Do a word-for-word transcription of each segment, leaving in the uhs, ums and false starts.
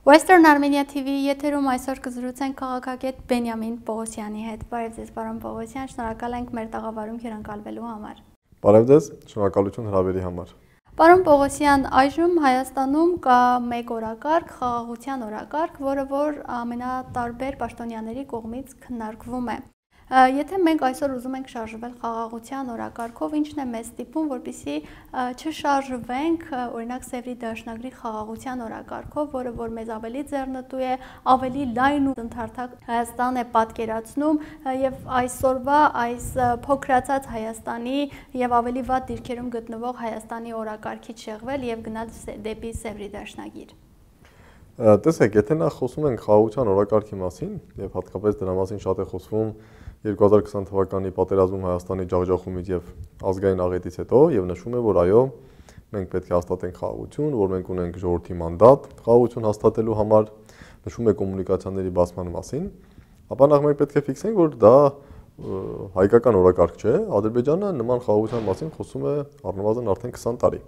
Western Armenia T V եթերում այսօր կզրուցենք քաղաքագետ Բենիամին Պողոսյանի հետ։ Բարև ձեզ, պարոն Պողոսյան, շնորհակալ ենք մեր տաղավարում հյուրընկալվելու համար։ Բարև ձեզ, շնորհակալություն հրավերի համար։ Պարոն Պողոսյան, այժմ Հայաստանում կա մեկ օրակարգ, խաղաղության օրակարգ, որը որ ամենատարբեր պաշտոնյաների կողմից քննարկվում է։ Ա, եթե մենք այսօր ուզում ենք շարժվել խաղաղության օրակարգով, ի՞նչն է մեզ ստիպում, որպեսզի, ա, չշարժվենք, ա, օրինակ, Սեւրի դաշնագրի խաղաղության օրակարգով, որը որ մեզ ավելի ձեռնտու է, ավելի լայն ու ընդհարթակ Հայաստան է պատկերացնում, ա, եւ այսօրվա այս, ա, փոքրացած Հայաստանի եւ ավելի վատ դիրքերում գտնվող Հայաստանի օրակարգի շեղվել եւ գնալ Սե-, դեպի Սեւրի դաշնագիր։ Ա, տեսեք, եթե նախ խոսում ենք խաղաղության օրակարգի մասին, եւ հատկապես դրա մասին շատ է խոսվում երկու հազար քսան թվականի պատերազմում Հայաստանի ջախջախումից եւ ազգային աղետից հետո, եւ նշվում է, որ այո, մենք պետք է հաստատենք խաղաղություն, որ մենք ունենք ժողովրդի մանդատ խաղաղություն հաստատելու համար, նշվում է կոմունիկացիաների բացման մասին, ապա նախ մենք պետք է ֆիքսենք, որ դա, ը, հայկական օրակարգ չէ, Ադրբեջանը նման խաղաղության մասին խոսում է առնվազն արդեն քսան տարի։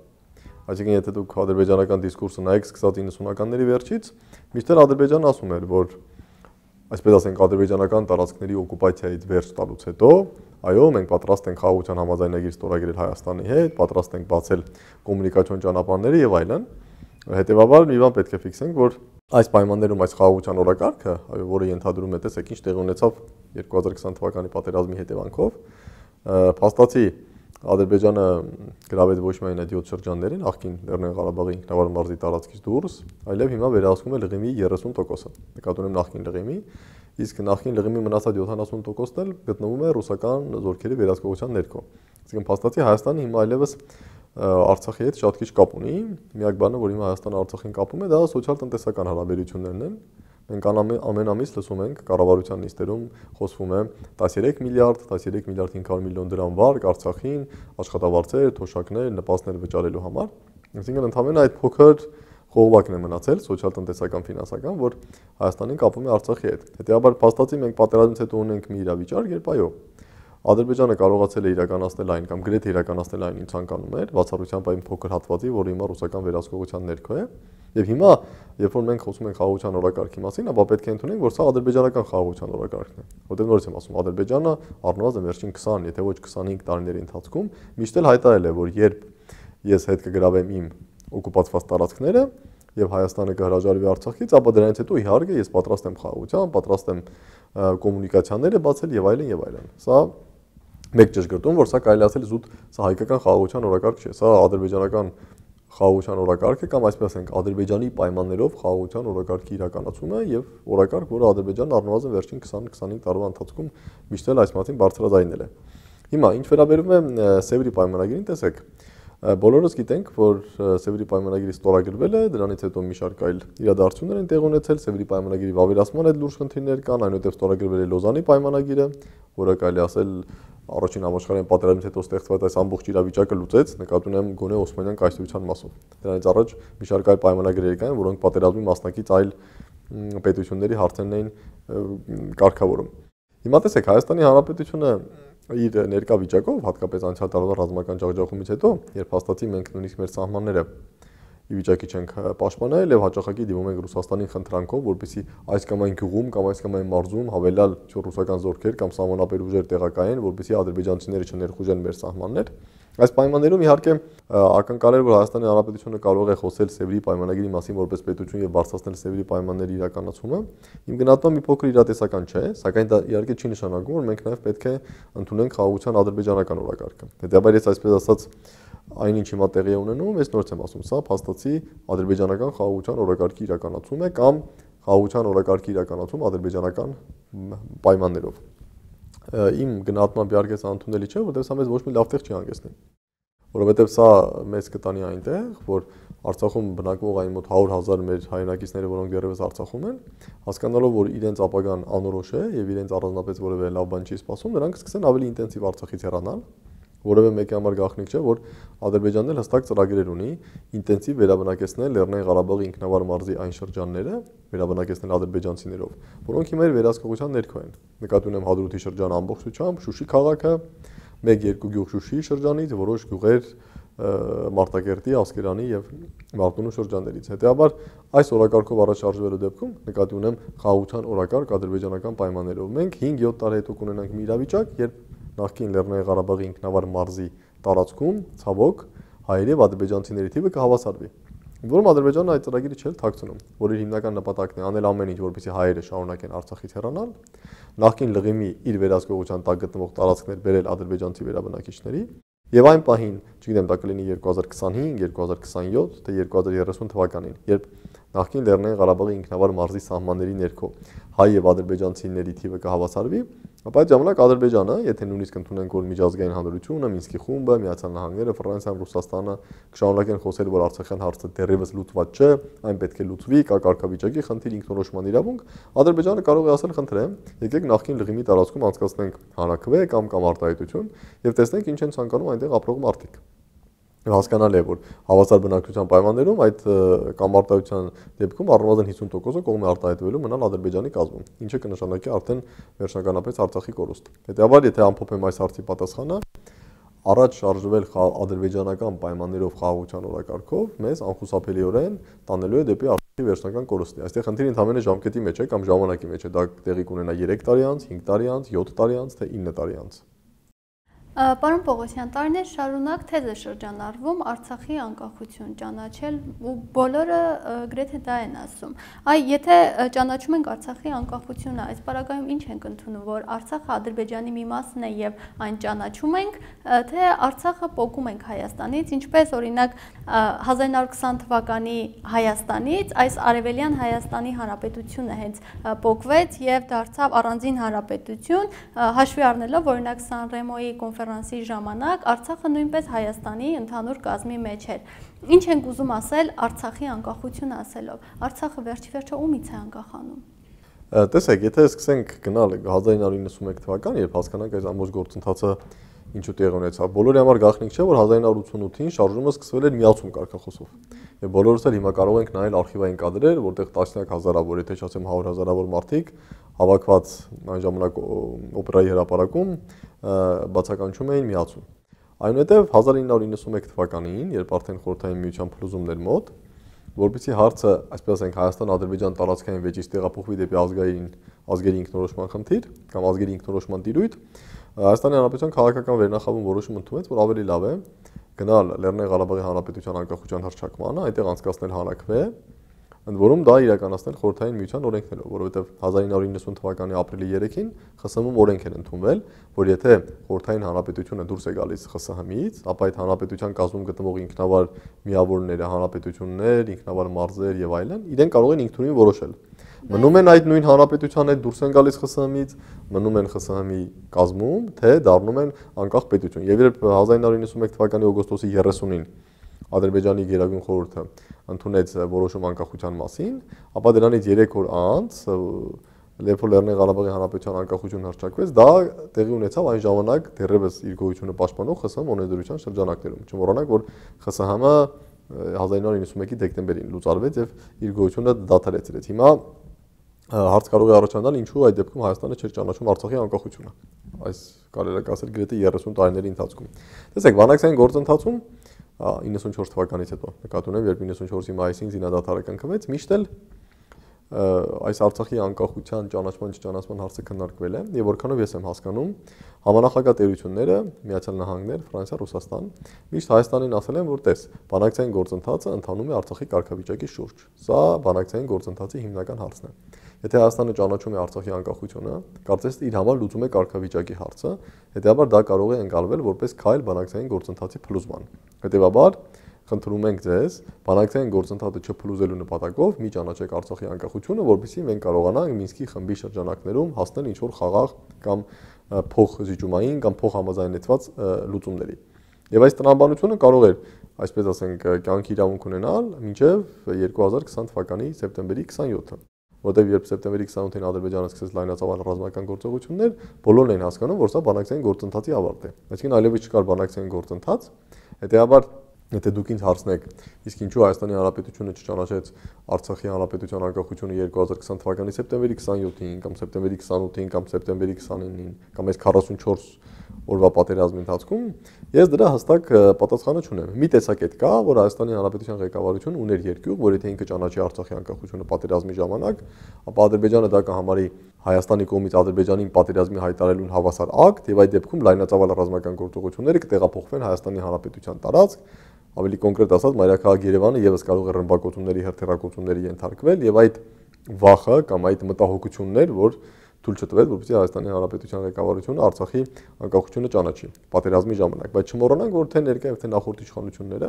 Այսինքն, եթե դուք ադրբեջանական դիսկուրսը նայեք, սկսած իննսունականների վերջից, մինչդեռ Ադրբեջանը ասում էր, որ, այսպես ասենք, ադրբեջանական տարածքների օկուպացիայից վերջ տալուց հետո, այո, մենք պատրաստ ենք խաղաղության համաձայնագիր ստորագրել Հայաստանի հետ, պատրաստ ենք բացել կոմունիկացիոն ճանապարհները եւ այլն։ Հետեւաբար, մի բան պետք է ֆիքսենք, որ այս պայմաններում այս խաղաղության օրակարգը, այո, որը ենթադրում է, տեսեք, ինչ տեղի ունեցավ երկու հազար քսան թվականի պատերազմի հետևանքով, ը, փաստացի Ադրբեջանը գրավեց ոչ միայն այդ յոթ շրջաններին, նախկին Լեռնային Ղարաբաղի ինքնավար մարզի տարածքից դուրս, այլեւ հիմա վերահսկում է Լղիմի երեսուն տոկոսը։ Նկատի ունեմ նախկին Լղիմի, իսկ նախկին Լղիմի մնացած յոթանասուն տոկոսն էլ գտնվում է ռուսական զորքերի վերահսկողության ներքո։ Այսինքն, փաստացի Հայաստանը հիմա այլեւս, ը, Արցախի հետ շատ քիչ կապ ունի։ Միակ բանը, որ հիմա Հայաստանը Արցախին կապում է, դա սոցիալ-տնտեսական հարաբերություններն են։ Մենք անամի-, ամեն ամիս լսում ենք կառավարության նիստերում խոսվում է տասներեք միլիարդ, տասներեք միլիարդ հինգ հարյուր միլիոն դրամ վարկ Արցախին, աշխատավարձեր, թոշակներ, նպաստներ վճարելու համար։ Այսինքն, ընդամենը այդ փոքր խողովակն է մնացել, սոցիալ-տնտեսական, ֆինանսական, որ Հայաստանին կապում է Արցախի հետ։ Հետեւաբար, փաստացի մենք պատերազմից հետո ունենք մի իրավիճակ, երբ, այո, Ադրբեջանը կարողացել է իրականացնել այն կամ գրեթե իրականացնել այն, ինչ ցանկանում էր, բացառությամբ այն փոքր հատվածի, որը հիմա ռուսական վերահսկողության ներքո է։ Եվ հիմա, երբ որ մենք խոսում ենք խաղաղության օրակարգի մասին, ապա պետք է ընդունենք, որ սա ադրբեջանական խաղաղության օրակարգն է։ Որտեղ, նորից եմ ասում, Ադրբեջանը առնվազն վերջին քսան, եթե ոչ քսանհինգ տարիների ընթացքում միշտ էլ հայտարարել է, որ երբ ես հետ կգրավեմ իմ օկուպացված տարածքները եւ Հայաստանը կհրաժարվի Արցախից, ապա դրանից հետո, իհարկե, ես պատրաստ եմ խաղաղության, պատրաստ եմ, ը, կոմունիկացիաները բացել եւ այլն, եւ այլն։ Սա մեկ ճշգրտում, որ սա կարելի ասել զուտ, սա հայկական խաղաղության օրակարգ չէ, սա ադրբեջանական խաղաղության օրակարգ է, կամ, այսպես ասենք, Ադրբեջանի պայմաններով խաղաղության օրակարգի իրականացումը եւ օրակարգ, որը Ադրբեջանն առնվազն վերջին քսան քսանհինգ տարվա ընթացքում միշտ էլ այս մասին բարձրաձայնել է։ Հիմա, ինչ վերաբերում է, ը, Սեւրի պայմանագիրին, տեսեք, ը, բոլորս գիտենք, որ, ը, Սեւրի պայմանագիրը ստորագրվել է, դրանից հետո մի շարք այլ իրադարձություններ են տեղի ունեցել, Սեւրի պայմանագիրի վավերացման հետ լուրջ խնդիրներ կան, այնուհետեւ ստորագրվել է Լոզանի պայմանագիրը, որը, կարելի ասել, առաջին համաշխարհային պատերազմից հետո ստեղծված այս ամբողջ իրավիճակը լուծեց, նկատի ունեմ, գոնե Օսմանյան կայսրության մասով։ Դրանից առաջ մի շարք այլ պայմանագրեր կային, որոնք պատերազմի մասնակից այլ, մ, պետությունների հարցերն էին, ը, կարգավորում։ Հիմա տեսեք, Հայաստանի Հանրապետությունը իր ներկա վիճակով, հատկապես անցյալ տարվա ռազմական ջախջախումից հետո, երբ հաստատի մենք նույնիսկ մեր սահմանները ի վիճակի չենք, ը, պաշտպանել եւ հաճախակի դիմում ենք Ռուսաստանին խնդրանքով, որպեսզի այս կամ այն գյուղում կամ այս կամ այն մարզում հավելյալ, ինչ որ, ռուսական զորքեր կամ սահմանապեր ուժեր տեղակայեն, որպեսզի ադրբեջանցիները չներխուժեն մեր սահմաններ։ Այս պայմաններում, իհարկե, ը, ակնկալել, որ Հայաստանի Հանրապետությունը կարող է խոսել Սեւրի պայմանագիրի մասին որպես պետություն եւ բարձրացնել Սեւրի պայմանների իրականացումը, իմ գնահատմամբ, մի փոքր իրատեսական չէ, սակայն դա, իհարկե, չի նշանակում, որ մենք նաեւ պետք է ընդունենք խաղաղության ադրբեջանական օրակարգը։ Հետեւաբար, ես, այսպես ասած, այն, ինչ հիմա տեղի է ունենում, ես նորից եմ ասում, սա փաստացի ադրբեջանական խաղաղության օրակարգի իրականացում է կամ խաղաղության օրակարգի իրականացում ադրբեջանական, մ, պայմաններով։ Ը, իմ գնահատմամբ, իհարկե, սա ընդունելի չէ, որովհետեւ սա մեզ ոչ մի լավ տեղ չի հանգեցնի։ Որովհետեւ սա մեզ կտանի այնտեղ, որ Արցախում բնակվող այն մոտ հարյուր հազար մեր հայրենակիցները, որոնք դեռեւս Արցախում են, հասկանալով, որ իրենց ապագան անորոշ է եւ իրենց առանձնապես որեւէ լավ բան չի սպասում, նրանք սկսեն ավելի ինտենսիվ Արցախից հեռանալ, որեւէ մեկի համար գաղտնիք չէ, որ Ադրբեջանն էլ հստակ ծրագրեր ունի ինտենսիվ վերաբնակեցնել Լեռնային Ղարաբաղի ինքնավար մարզի այն շրջանները, վերաբնակեցնել ադրբեջանցիներով, որոնք հիմա իր վերահսկողության ներքո են։ Նկատի ունեմ Հադրութի շրջանը ամբողջությամբ, Շուշի քաղաքը, մեկ-երկու գյուղ Շուշի շրջանից, որոշ գյուղեր, Մարտակերտի, Ասկերանի եւ Մարտունու շրջաններից։ Հետեւաբար, այս օրակարգով առաջ շարժուելու դեպքում, նկատի ունեմ խաղաղութեան օրակարգ ադրբեջանական պայմաններով, մենք հինգ-յոթ տարի հետո կունենանք մի իրավիճակ, երբ նախկին Լեռնային Ղարաբաղի ինքնավար մարզի տարածքում, ցաւոք, հայերի եւ ադրբեջանցիների թիւը կհաւասարվի, որում Ադրբեջանը այդ ծրագիրը չէր թաքցնում, որ իր հիմնական նպատակն է անել ամեն ինչ, որպեսզի հայերը շարունակեն Արցախից հեռանալ, նախկին Լղիմի իր վերահսկողութեան տակ գտնվող տարածքներ բերել ադրբեջանցի վերաբնակիչների, եւ այն պահին, չգիտեմ, դա կլինի երկու հազար քսանհինգ, երկու հազար քսանյոթ, թէ երկու հազար երեսուն թվականին, երբ նախկին Լեռնային Ղարաբաղի ինքնավար մարզի սահմանների ներքո հայ եւ ադրբեջանցիների թիւը կհաւասարվի, ապա այդ ժամանակ Ադրբեջանը, եթե նույնիսկ ընդունենք, որ միջազգային հանրությունը, Մինսկի խումբը, Միացյալ Նահանգները, Ֆրանսիան, Ռուսաստանը կշարունակեն խօսել, որ Արցախեան հարցը դեռեւս լուծուած չէ, այն պէտք է լուծուի, կա կարգավիճակի խնդիր, ինքնորոշման իրավունք, Ադրբեջանը կարող է ասել. «Խնդրեմ, եկեք նախկին Լղիմի տարածքում անցկացնենք հանրաքուէ կամ, կամ արտահայտություն եւ տեսնենք ինչ են ցանկանում այնտեղ ապրող մարդիկ»։ Եւ հասկանալի է, որ հավասար բնակչության պայմաններում այդ, ը, կամ արտահայտության դեպքում առնվազն հիսուն տոկոսը կողմ է արտահայտվելու մնալ Ադրբեջանի կազմում, ինչը կնշանակի արդեն վերջնականապես Արցախի կորուստ։ Հետեւաբար, եթե ամփոփեմ այս հարցի պատասխանը, առաջ շարժվել խաղ-, ադրբեջանական պայմաններով խաղաղութեան օրակարգով մեզ անխուսափելիորեն տանելու է դեպի Արցախի վերջնական կորուստի։ Այստեղ խնդիրը ընդամենը ժամկետի մեջ է կամ ժամանակի մեջ է, դա տեղի կունենա երեք տարի անց, հինգ տարի անց, յոթ տարի անց, թե ինը տարի անց։ Ա, պարոն Պողոսյան, տարիներ շարունակ թեզ է շրջանառվում Արցախի անկախություն ճանաչել, ու բոլորը, ը, գրեթե դա են ասում։ Այ, եթե, ը, ճանաչում ենք Արցախի անկախությունը, այս պարագայում ինչ ենք ընդունում, որ Արցախը Ադրբեջանի մի մասն է եւ այն ճանաչում ենք, ը, թե Արցախը պոկում ենք Հայաստանից, ինչպես, օրինակ, ը, հազար ինը հարյուր քսան թվականի Հայաստանից այս Արեւելյան Հայաստանի Հանրապետությունը հենց, ը, պոկվեց եւ դարձաւ առանձին հանրապետություն, ը, հաշվի առնելով, օրինակ, Սան Ռեմոյի կոնֆերանսի ժամանակ Արցախը նոյնպես Հայաստանի ընդհանուր կազմի մեջ էր։ Ինչ ենք ուզում ասել Արցախի անկախությունը ասելով։ Արցախը վերջի վերջը ումից է անկախանում։ Ը, տեսեք, եթե սկսենք գնալ հազար ինը հարյուր իննսունմեկ թվական, երբ հասկանանք այս ամբողջ գործընթացը ինչու տեղի ունեցաւ, բոլորի համար գաղտնիք չէ, որ հազար ինը հարյուր ութսունութին շարժումը սկսվել էր միացում կարգախոսով։ Եւ բոլորս էլ հիմա կարող ենք նայել արխիվային կադրեր, որտեղ տասնյակ հազարավոր, եթե չասեմ հարյուր հազարավոր մարդիկ, հավաքուած այն ժամանակ օ-, օպերայի հրապարակում, ը, բացականչում էին միացում։ Այնուհետեւ հազար ինը հարյուր իննսունմեկ թվականին, երբ արդեն Խորհրդային Միության փլուզումն էր մօտ, որպեսզի հարցը, այսպես ասենք, Հայաստան-Ադրբեջան տարածքային վեճից տեղափոխուի դէպի ազգային, ազգերի ինքնորոշման խնդիր կամ ազգերի ինքնորոշման տիրոյթ, Հայաստանի Հանրապետության քաղաքական վերնախավում որոշում ընդունեց, որ ավելի լաւ է գնալ Լեռնային Ղարաբաղի Հանրապետության անկախության հռչակմանը, այնտեղ անցկացնել հանրաքուէ, ընդ որում դա իրականացնել Խորհրդային Միության օրենքներով, որովհետեւ հազար ինը հարյուր իննսուն թվականի ապրիլի երեքին Խ Ս Հ-ում օրենք էր ընդունվել, որ եթե Խորհրդային Հանրապետությունը դուրս է գալիս Խ Ս Հ-ից, ապա այդ հանրապետության կազմում գտնվող ինքնավար միավորները, հանրապետություններ, ինքնավար մարզեր եւ այլն, իրենք կարող են ինքնուրույն որոշել։ Մնում են այդ նույն հանրապետության հետ, դուրս են գալիս Խ Ս Հ-ից, մնում են Խ Ս Հ-ի կազմում, թե դառնում են անկախ պետություն։ Եվ երբ հազար ինը հարյուր իննսունմեկ թվականի օգոստոսի երեսունին Ադրբեջանի Գերագույն Խորհուրդը ընդունեց որոշում անկախության մասին, ապա դրանից երեք օր անց, ը, երբ որ Լեռնային Ղարաբաղի Հանրապետության անկախությունը հռչակվեց, դա տեղի ունեցավ այն ժամանակ դեռևս իր գոյությունը պաշտպանող Խ Ս Հ-ի օրենսդրության շրջանակներում։ Չմոռանանք, որ Խ Ս Հ-ը, ը, հազար ինը հարյուր իննսունմեկի դեկտեմբերին լուծարվեց եւ իր գոյությունը դադարեցրեց։ Հիմա, ը, հարց կարող է առաջանալ, ինչու այդ դեպքում Հայաստանը չէր ճանաչում Արցախի անկախությունը։ Այս կարելի է ասել գրեթե երեսուն տարիների ընթացքում։ Տեսեք, բանակցային գործընթացում, ա, իննսունչորս թվականից հետո, նկատի ունեմ, երբ իննսունչորսի մայիսին զինադադարը կնքվեց, միշտ էլ, ը, այս Արցախի անկախության ճանաչման, չճանաչման հարցը քննարկվել է, եւ որքանով ես եմ հասկանում, համանախագահ տերությունները, Միացյալ Նահանգներ, Ֆրանսիա, Ռուսաստան, միշտ Հայաստանին ասել են, որ տես, բանակցային գործընթացը ընթանում է Արցախի կարգավիճակի շուրջ։ Սա բանակցային գործընթացի հիմնական հարցն է։ Եթե Հայաստանը ճանաչում է Արցախի անկախությունը, կարծես իր համար լուծում է կարգավիճակի հարցը, հետեւաբար դա կարող է ընկալվել որպես քայլ բանակցային գործընթացի փլուզման։ Հետեւաբար, խնդրում ենք ձեզ, բանակցային գործընթացը չփլուզելու նպատակով մի ճանաչեք Արցախի անկախությունը, որպեսզի մենք կարողանանք Մինսկի խմբի շրջանակներում հասնել ինչ-որ խաղաղ կամ, ը, փոխզիջումային կամ փոխհամաձայնեցված, ը, լուծումների։ Եվ այս տրամաբանությունը կարող էր, այսպես ասենք, կյանքի իրավունք ունենալ մինչև երկու հազար քսան թվականի սեպտեմբերի քսանյոթը, որտեղ երբ սեպտեմբերի քսանութին Ադրբեջանը սկսեց լայնածավալ ռազմական գործողություններ, բոլորն էին հասկանում, որ սա բանակցային գործընթացի ավարտ է։ Այսինքն այլևս չկար բանակցային գործընթաց, հետեւաբար, եթե դուք ինձ հարցնեք, իսկ ինչու Հայաստանի Հանրապետությունը չճանաչեց Արցախի Հանրապետության անկախությունը երկու հազար քսան թվականի սեպտեմբերի քսանյոթին կամ սեպտեմբերի քսանութին կամ սեպտեմբերի քսանինին կամ այս քառասունչորս օրուայ պատերազմի ընթացքում, ես դրա հստակ, ը, պատասխանը չունեմ։ Մի տեսակետ կա, որ Հայաստանի Հանրապետութեան ղեկավարութիւնը ունէր երկիւղ, որ եթէ ինքը ճանաչի Արցախի անկախութիւնը պատերազմի ժամանակ, ապա Ադրբեջանը դա կը համարի Հայաստանի կողմից Ադրբեջանին պատերազմի յայտարարելուն հաւասար ակտ, եւ այդ դեպքում լայնածաւալ ռազմական գործողութիւնները կը տեղափոխուին Հայաստանի Հանրապետութեան տարածք, ավելի կոնկրետ ասած, մայրաքաղաք Երեւանը եւս կարող է ռմբակոծումների, հրթիռակոծումների ենթարկվել, եւ այդ վախը կամ այդ մտահոգությունն էր, որ թույլ չտուեր, որպեսզի Հայաստանի Հանրապետութեան ղեկավարությունը Արցախի անկախությունը ճանաչի պատերազմի ժամանակ։ Բայց չմոռանանք, որ թէ ներկայ եւ թէ նախորդ իշխանությունները,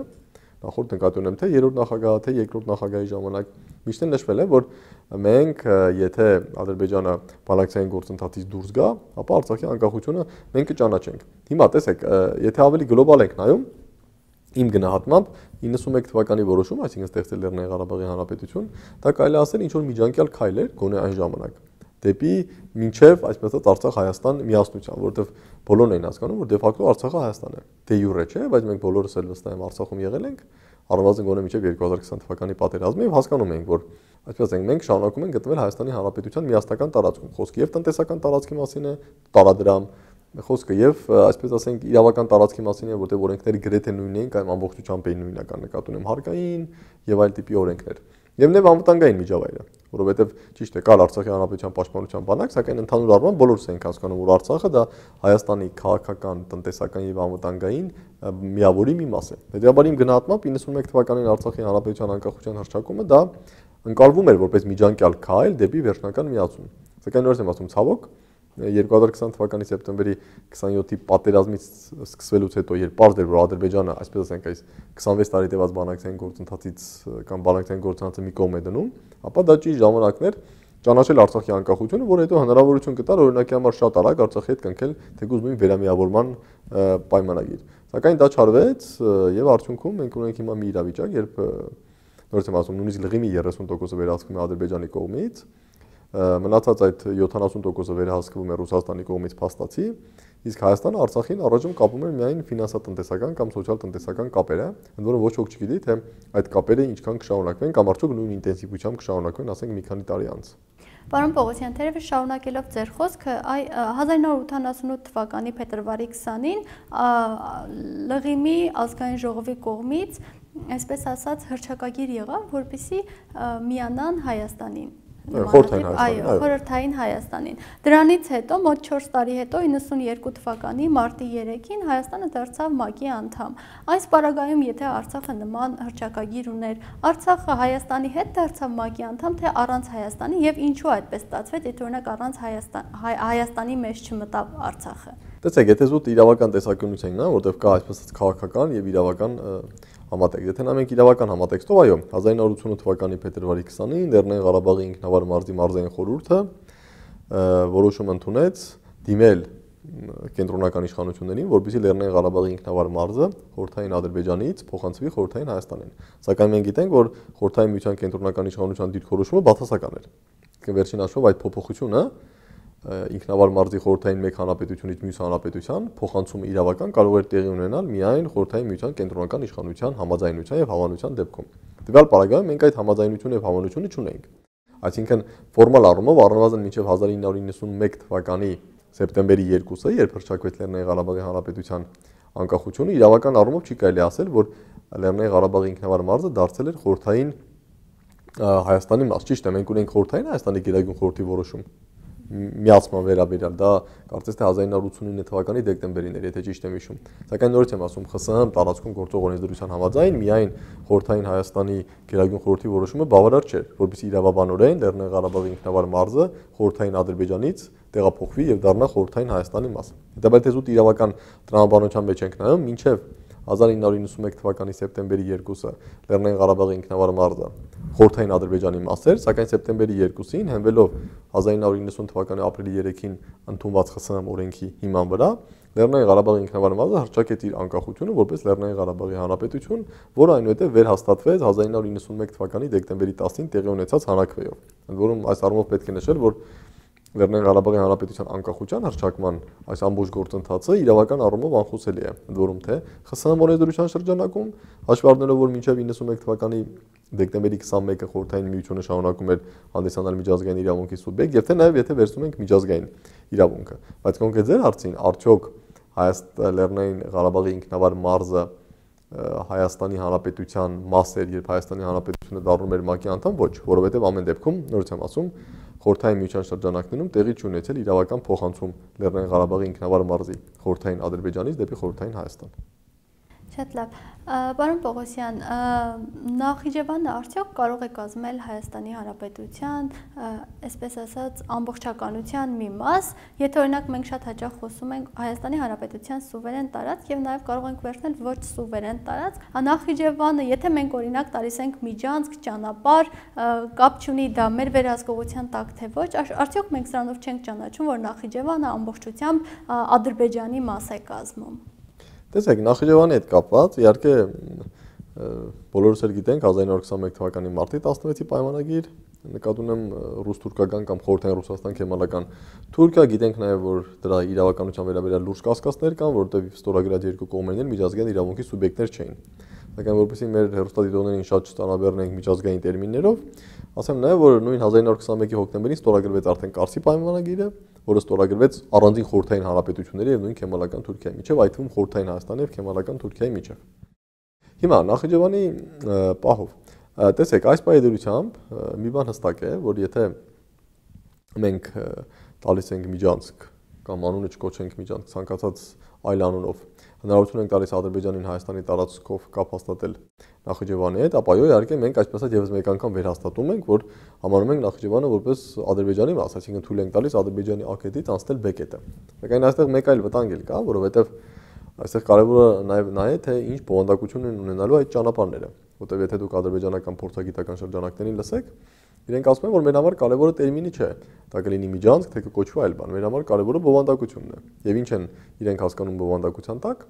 նախորդ, նկատի ունեմ, թէ երրորդ նախագահ, թէ երկրորդ նախագահի ժամանակ միշտ էլ նշվել է, որ մենք, ը, եթե Ադրբեջանը բանակցային գործընթացից դուրս գայ, ապա Արցախի անկախությունը մենք կճանաչենք։ Հիմա տեսեք, ը, եթե ավելի գլոբալ ենք նայում, իմ գնահատմամբ, իննսունմեկ թվականի որոշում, այսինքն ստեղծել Լեռնային Ղարաբաղի Հանրապետություն, դա կարելի է ասել ինչ-որ միջանկյալ քայլ էր, գոնե այն ժամանակ, դէպի մինչեւ, այսպես ասած, Արցախ-Հայաստան միասնության, որովհետեւ բոլորն են հասկանում, որ դե ֆակտո Արցախը Հայաստան է։ Դե յուրե չէ, բայց մենք բոլորս էլ վստահ եմ Արցախում եղել ենք, առնվազն գոնե մինչեւ երկու հազար քսան թվականի պատերազմը, եւ հասկանում ենք, որ, այսպես ասենք, մենք շարունակում ենք գտնվել Հայաստանի Հանրապետության միասնական տարածքում։ Խոսքը եւ տնտեսական տարածքի մասին է, տարադրամ, խոսքը եւ, ը, այսպես ասենք, իրավական տարածքի մասին է, որտեղ օրենքները գրեթե նույնն են կամ ամբողջությամբ են նույնական, նկատի ունեմ, հարկային եւ այլ տիպի օրենքներ։ Եվ նաեւ անվտանգային միջավայրը, որովհետեւ ճիշտ է, կար Արցախի Հանրապետության պաշտպանության բանակ, սակայն ընդհանուր առմամբ բոլորս ենք հասկանում, որ Արցախը դա Հայաստանի քաղաքական, տնտեսական եւ անվտանգային, ը, միավորի մի մաս է։ Հետեւաբար իմ գնահատմամբ իննսունմեկ թվականին Արցախի Հանրապետության անկախության հռչակումը դա ընկալվում էր որպես միջանկյալ քայլ դէպի վերջնական միացում։ Սակայն նորից եմ ասում, ցավոք, երկու հազար քսան թվականի սեպտեմբերի քսանյոթի պատերազմից սկսվելուց հետո, երբ պարզ էր, որ Ադրբեջանը, այսպես ասենք, այս քսանվեց տարի տևած բանակցային գործընթացից, ը, կամ բանակցային գործընթացը մի կողմ է դնում, ապա դա ճիշտ ժամանակն էր ճանաչել Արցախի անկախությունը, որ հետո հնարավորություն կտար, օրինակի համար, շատ արագ Արցախի հետ կնքել թեկուզ նույն վերամիավորման, ը, պայմանագիր։ Սակայն դա չարվեց, ը, եւ արդյունքում մենք ունենք հիմա մի իրավիճակ, երբ, ը, նորից եմ ասում, նույնիսկ լղիմի երեսուն տոկոսը վերահսկվում է Ադրբեջանի կողմից, ը, մնացած այդ յոթանասուն տոկոսը վերահսկվում է Ռուսաստանի կողմից փաստացի, իսկ Հայաստանը Արցախին առայժմ կապում է միայն ֆինանսատնտեսական կամ սոցիալ-տնտեսական կապերը, ընդ որում ոչ ոք չգիտի, թե այդ կապերը ինչքան կշարունակվեն կամ արդյոք նույն ինտենսիվությամբ կշարունակվեն, ասենք, մի քանի տարի անց։ Պարոն Պողոսյան, թերևս շարունակելով ձեր խոսքը, այ, ը, հազար նոր ութանասունութ թվականի փետրվարի քսանին, ա, Լղիմի ազգային ժողովի կողմից, այսպես ասած, հռչակագիր եղաւ, որպեսզի, ը, միանան Հայաստանին։ Ը, Խորհրդային Նմանատիպ, Հայաստանին, այո, այո։ Խորհրդային Հայաստանին։ Դրանից հետո, մոտ չորս տարի հետո, իննսուն երկու թվականի մարտի երեքին Հայաստանը դարձավ մակի անդամ։ Այս պարագայում, եթե Արցախը նման հռչակագիր ուներ, Արցախը Հայաստանի հետ դարձավ մակի անդամ, թե առանց Հայաստանի, եւ ինչու այդպես ստացվեց, եթե, օրինակ, առանց Հայաստան-, Հայ-, Հայաստանի մեջ չմտավ Արցախը։ Տեսեք, եթե զուտ իրավական տեսանկյունից ենք նայում, որտեղ կա, այսպես ասած, քաղաքական եւ իրավական, ը, համատեքստ։ Եթե նայենք իրավական համատեքստով, այո, հազար նոր ութանասուն թվականի փետրվարի քսանին Լեռնային Ղարաբաղի ինքնավար մարզի մարզային խորհուրդը, ը, որոշում ընդունեց դիմել, ը, կենտրոնական իշխանություններին, որպեսզի Լեռնային Ղարաբաղի ինքնավար մարզը խորհրդային Ադրբեջանից փոխանցվի խորհրդային Հայաստանին։ Սակայն մենք գիտենք, որ խորհրդային միության կենտրոնական իշխանության դիրքորոշումը բացասական էր։ Վերջին հաշվով այդ փոփոխությունը, ը, ինքնավար մարզի խորհրդային մեկ հանրապետությունից մյուս հանրապետության փոխանցումը իրավական կարող էր տեղի ունենալ միայն խորհրդային միության կենտրոնական իշխանության համաձայնության եւ հավանության դեպքում։ Տվյալ պարագայում մենք այդ համաձայնությունը եւ հավանությունը չունենք։ Այսինքն, ֆորմալ առումով, առնվազն մինչեւ հազար ինը հարյուր իննսունմեկ թվականի սեպտեմբերի երկուսը, երբ հռչակվեց Լեռնային Ղարաբաղի Հանրապետության անկախությունը, իրավական առումով չի կարելի ասել, որ Լեռնային Ղարաբաղի ինքնավար մարզը դարձել էր խորհրդային, ը, Հայաստանի մաս։ Ճիշտ է, մենք ունենք խորհրդային Հայաստանի Գերագույն խորհրդի որոշում, մ-, միացման վերաբերյալ, դա կարծես թե հազար ինը հարյուր ութսունինը թվականի դեկտեմբերին էր, եթե ճիշտ եմ հիշում։ Սակայն նորից եմ ասում, Խ Ս Հ տարածքում գործող օրենսդրության համաձայն միայն խորհրդային Հայաստանի Գերագույն խորհրդի որոշումը բավարար չէր, որպեսզի իրավաբանորեն Լեռնային Ղարաբաղի ինքնավար մարզը խորհրդային Ադրբեջանից տեղափոխվի եւ դառնա խորհրդային Հայաստանի մաս։ Հետաբար, եթե զուտ իրավական տրամաբանության մեջ ենք նայում, մինչեւ հազար ինը հարյուր իննսունմեկ թվականի սեպտեմբերի երկուսը Լեռնային Ղարաբաղի ինքնավար մարզը խորհրդային Ադրբեջանի մաս էր, սակայն սեպտեմբերի երկուսին, հենվելով հազար ինը հարյուր իննսուն թվականի ապրիլի երեքին ընդունված Խ Ս Հ օրենքի հիման վրա, Լեռնային Ղարաբաղի ինքնավար մարզը հռչակեց իր անկախությունը որպես Լեռնային Ղարաբաղի Հանրապետություն, որը այնուհետև վերհաստատվեց հազար ինը հարյուր իննսունմեկ թվականի դեկտեմբերի տասին տեղի ունեցած հանրաքվեով։ Ընդ որում, այս առումով պետք է նշել, որ Լեռնային Ղարաբաղի Հանրապետության անկախության հռչակման այս ամբողջ գործընթացը իրավական առումով անխուսելի է։ Ընդ որում, թե Խ Ս Հ օրենսդրության շրջանակում, հաշվի առնելով, որ մինչև իննսունմեկ թվականի դեկտեմբերի քսանմեկը խորհրդային միությունը շարունակում էր հանդիսանալ միջազգային իրավունքի սուբյեկտ, եւ թե նաեւ եթե վերցնում ենք միջազգային իրավունքը։ Բայց կոնկրետ ձեր հարցին, արդյոք Հայաստ-, Լեռնային Ղարաբաղի ինքնավար մարզը, ը, Հայաստանի Հանրապետութեան մաս էր, երբ Հայաստանի Հանրապետությունը դառնում էր մակի անդամ, ոչ, որովհետեւ ամեն դեպքում, նորից եմ ասում, խորհրդային միության շրջանակներում տեղի չի ունեցել իրավական փոխանցում Լեռնային Ղարաբաղի ինքնավար մարզի խորհրդային Ադրբեջանից դեպի խորհրդային Հայաստան։ Շատ լավ։ Ա, պարոն Պողոսյան, ա, Նախիջևանը արդյոք կարող է կազմել Հայաստանի Հանրապետության, ա, այսպես ասած, ամբողջականության մի մաս, եթե, օրինակ, մենք շատ հաճախ խոսում ենք Հայաստանի Հանրապետության սուվերեն տարածք եւ նաեւ կարող ենք վերցնել ոչ սուվերեն տարածք, ա, Նախիջևանը, եթե մենք, օրինակ, տալիս ենք միջանցք, ճանապարհ, ա, կապ չունի դա մեր վերահսկողության տակ թե ոչ, ա, արդյոք մենք սրանով չենք ճանաչում, որ Նախիջևանը ամբողջությամբ, ա, Ադրբեջանի մաս է կազմում։ Տեսեք, Նախիջևանի հետ կապված, իհարկե, ը, բոլորս էլ գիտենք հազար ինը հարյուր քսանմեկ թվականի մարտի տասնվեցի պայմանագիր, նկատի ունեմ, ը, ռուս-թուրքական կամ խորհրդային Ռուսաստան-քեմալական Թուրքիա, գիտենք նաեւ, որ դրա իրավականության վերաբերյալ լուրջ կասկածներ կան, որովհետեւ ստորագրած երկու կողմերն էլ միջազգային իրավունքի սուբյեկտներ չէին։ Սակայն որպեսզի մեր հեռուստադիտողներին շատ չծանրաբեռնենք միջազգային տերմիններով, ասեմ նաեւ, որ նոյն հազար ինը հարյուր քսանմեկի հոկտեմբերին ստորագրվեց արդեն Կարսի պայմանագիրը, որը ստորագրվեց առանձին խորհրդային հանրապետությունների եւ նոյն քեմալական Թուրքիայի միջեւ, այդ թվում խորհրդային Հայաստանի եւ քեմալական Թուրքիայի միջեւ։ Հիմա Նախիջևանի, ը, պահով, ը, տեսեք, այս պահի դրությամբ, ը, մի բան հստակ է, որ եթե մենք, ը, տալիս ենք միջանցք կամ անունը չկոչենք միջանցք, ցանկացած այլ անունով, հնարավորություն ենք տալիս Ադրբեջանին Հայաստանի տարածքով կապ հաստատել Նախիջևանի հետ, ապա այո, իհարկե մենք այսպես ասած եւս մեկ անգամ վերհաստատում ենք, որ համարում ենք Նախիջևանը որպես Ադրբեջանի մաս, այսինքն թույլ ենք տալիս Ադրբեջանի A կետից անցնել B կետը։ Սակայն այստեղ մեկ այլ վտանգ էլ կա, որովհետեւ այստեղ կարեւորը նաեւ նա է, թե ինչ բովանդակություն են ունենալու այդ ճանապարհները, որտեղ եթե դուք ադրբեջանական փորձագիտական շրջանակներին լսեք, իրենք ասում են, որ մեր համար կարեւորը տերմինը չէ, դա կլինի միջանցք, թե կկոչվի այլ բան, մեր համար կարեւորը բովանդակությունն է։ Եվ ինչ են իրենք հասկանում բովանդակության տակ,